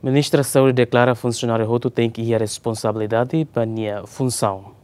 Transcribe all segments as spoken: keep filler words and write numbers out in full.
Ministra Saúde deklara funsionáriu hotu tenke iha responsabilidade ba nia funsaun.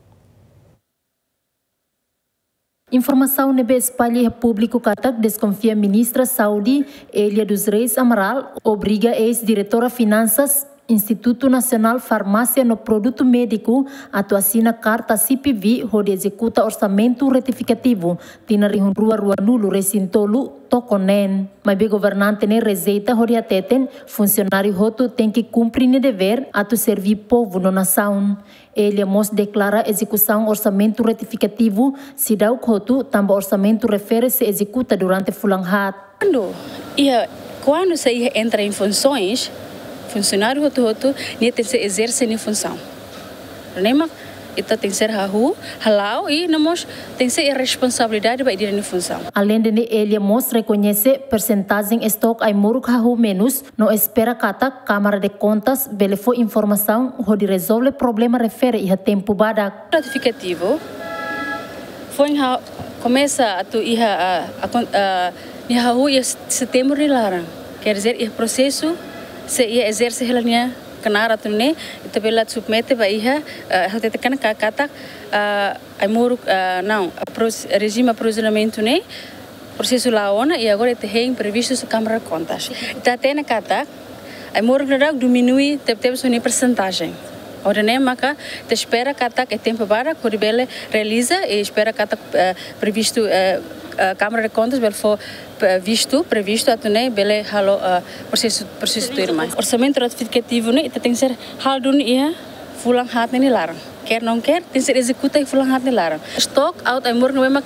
Informasaun ne'ebé espalla iha públiku katak deskonfia Ministra Saúde, Elia dos Reis Amaral, obriga eis-diretora Finansas Institutu Nasionál Farmásia no Produtu Médiku atu asina karta C P V hodi ezekuta orsamentu retifikativu tinan rihun rua ruanulu resin tolu tokon neen. Maibé governante ne'e rejeita hodi hateten funsionáriu hotu tenke kumpre nia devér atu serví povu no nasaun. Elia mós deklara ezekusaun orsamentu retifikativu seidauk hotu tanba orsamentu refere sei ezekuta durante fulan haat. Kuandu iha, kuandu sei iha entra em funções, funsionáriu hotu-hotu nia tenke ezerse nia funsaun. Ne'e mak ita tenke hahú, hala'o i no mós tenke iha responsabilidade ba ita-nia funsaun. Aleinde ne'e, Elia mós rekoñese persentajen estok ai-moruk hahú menus, no espera katak Câmara de Contas bele fó informasaun hodi rezolve problema refere iha tempu badak. Retifikativu foin ha-, komesa atu iha, a, a, kon-, a, nia hahú iha Setembru nia laran. Quer dizer, iha prosesu, se iha ezerse hela nia knaar atu nune'e, ita bele submete ba iha, a, hau tete kana ka-, katak, a, ai-moruk, a, não, a pros-, rejime aprovizionamentu ne'e, prosesu la'o ona, i agora ita hein previstu husi Câmara de Contas. Ita hatene katak ai-moruk ne'e daudaun diminui tebetebes nia persentajen. Hodi nune'e maka ita espera katak iha tempu badak hodi bele realiza, i espera katak, eh, previstu, eh, eh, Câmara de Contas bele fó, eh, vistu, previstu atu nune'e bele halo, eh, prosesu, prosesu tuirmai. Orsamentu retifikativu ne'e ita tenke halo duni iha fulan haat nia laran. Quer não quer, tenke ezekuta iha fulan haat nia laran. Estok aut ai-moruk ne'ebé mak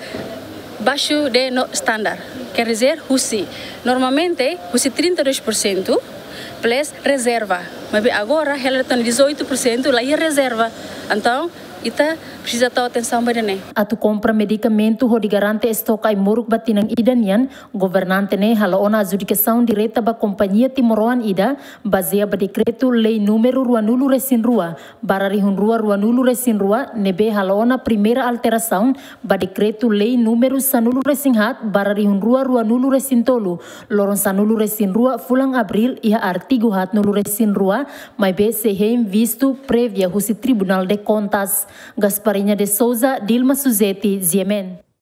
baixo de no standard. Quer dizer, husi, normalmente, husi trinta e dois por cento plus rezerva. Maibé agora, hela to'o dezoito por cento la iha rezerva. Entaun, ita presiza tau atensaun ba ida-ne'e. Atu kompra medikamentu hodi garante estok ai-moruk ba tinan ida nian, governante ne'e hala'o ona adjudikasaun direta ba kompañia timoroan ida, bazeia ba dekretu lei númeru ruanulu resin rua, barra rihun rua ruanulu resin rua, ne'ebé hala'o ona primeira alterasaun ba dekretu lei númeru sanulu resin haat, barra rihun rua ruanulu resin tolu, loron sanulu resin rua fulan Abríl, iha artigu haatnulu resin rua, maibé sei hein vistu prévia husi Tribunal de Contas. Gasparinha de Souza, Dilma Suzeti, G M N.